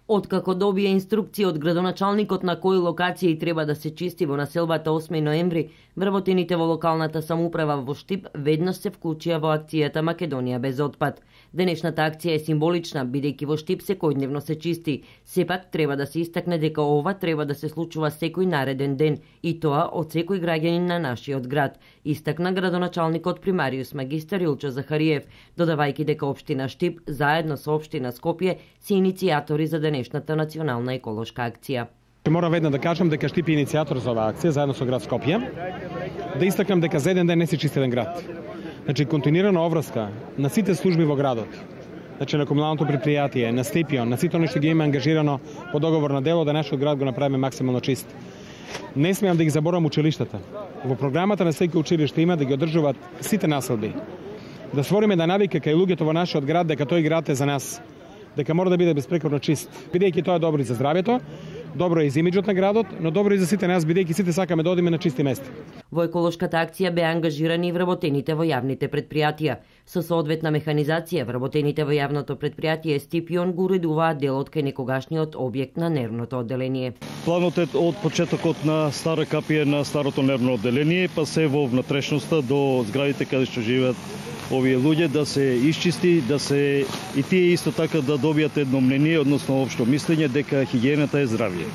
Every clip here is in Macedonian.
Откако добија инструкција од градоначалникот на кои локации треба да се чисти во населбата 8 ноември, вработените во локалната самоуправа во Штип веднаш се вклучија во акцијата Македонија без отпад. Денешната акција е символична, бидејќи во Штип секојдневно се чисти. Сепак треба да се истакне дека ова треба да се случува секој нареден ден, и тоа од секој граѓанин на нашиот град, истакна градоначалникот примариус магистар Илчо Захариев, додавајќи дека општина Штип заедно со општина Скопје се иницијатори за денешната национална еколошка акција. Мора веднаш да кажам дека Штип е иницијатор за оваа акција заедно со град Скопје. Да истакнам дека за еден ден не се чисти еден град. Значи континуирана обврска на сите служби во градот. Значи на комуналното предпријатие, на Степион, на сите оние што ги има ангажирано по договор на дело да нашиот град го направиме максимално чист. Не смеам да ги заборавам училиштата. Во програмата на секој училиште има да ги одржуваат сите населби. Да створиме да навика кај луѓето во нашиот град дека тој град е за нас, дека мора да биде беспрекорно чист. Бидејќи тоа е добро и за здравјето, добро е и за имиџот на градот, но добро и за сите нас, бидејќи сите сакаме да одиме на чисти места. Во еколошката акција беа ангажирани и вработените во јавните предпријатија. Со соодветна механизација, вработените во јавното предпријатие Стипион го уредуваат делот кај некогашниот објект на нервното одделение. Планот е од почетокот на Стара Капија на старото нервно одделение, па се во внатрешноста до зградите каде што живеат овие луѓе да се исчисти, да се и тие исто така да добијат едно мнение, односно општо мислење дека хигиената е здравје.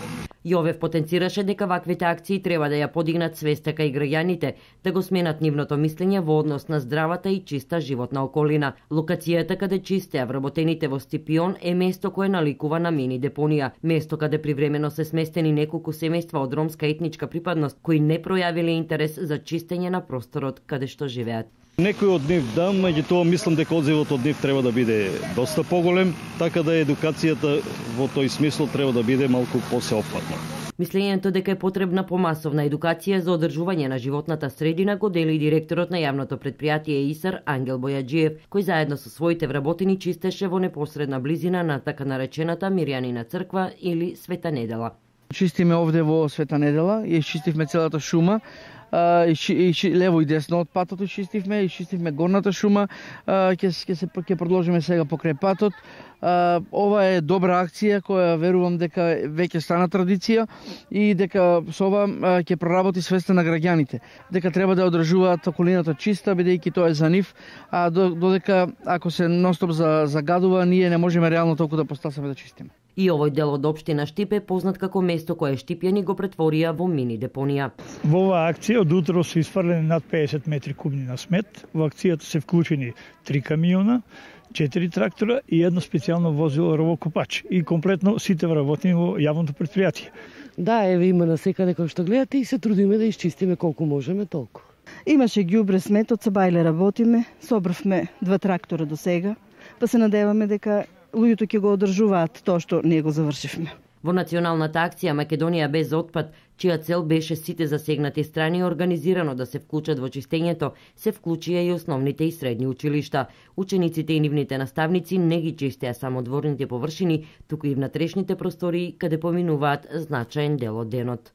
Јовев потенцираше дека ваквите акции треба да ја подигнат свеста кај граѓаните, да го сменат нивното мислење во однос на здравата и чиста животна околина. Локацијата каде чистеа вработените во Стипион е место кое наликува на мини депонија, место каде привремено се сместени неколку семејства од ромска етничка припадност кои не пројавиле интерес за чистење на просторот каде што живеат. Некој од нив да, меѓутоа мислам дека одзивот од нив треба да биде доста поголем, така да едукацијата во тој смисол треба да биде малку посеопфатна. Мислењето дека е потребна помасовна едукација за одржување на животната средина го дели директорот на јавното предпријатие ИСАР Ангел Бојаджиев, кој заедно со своите вработени чистеше во непосредна близина на така наречената Мирјанина црква или Света недела. Чистиме овде во Света недела, ја изчистивме целата шума, лево и десно од патот изчистивме, изчистивме горната шума, ќе продолжиме сега покрај патот. Ова е добра акција која верувам дека веќе стана традиција и дека со ова ќе проработи свеста на граѓаните, дека треба да одржуваат околината чиста бидејќи тоа е за нив, а додека ако се ностоп загадува, ние не можеме реално толку да постасаме да чистиме. И овој дел од општина Штип е познат како место кое штипјани го претворија во мини депонија. Во оваа акција од утро се isfрлени над 50 метри кубни на смет. Во акцијата се вклучени 3 камиона, 4 трактора и едно специјално возило ровокопач и комплетно сите вработени во јавното предпријатие. Да, еве има насекаде кој што гледате и се трудиме да изчистиме колку можеме толку. Имаше ѓубре сметот, со бајле работиме, собравме 2 трактора до сега, па се надеваме дека луѓето ќе го одржуваат тоа што ние го завршивме. Во националната акција Македонија без отпад, чија цел беше сите засегнати страни организирано да се вклучат во чистењето, се вклучија и основните и средни училишта. Учениците и нивните наставници не ги чистеа само дворните површини, туку и внатрешните простории каде поминуваат значаен дел од денот.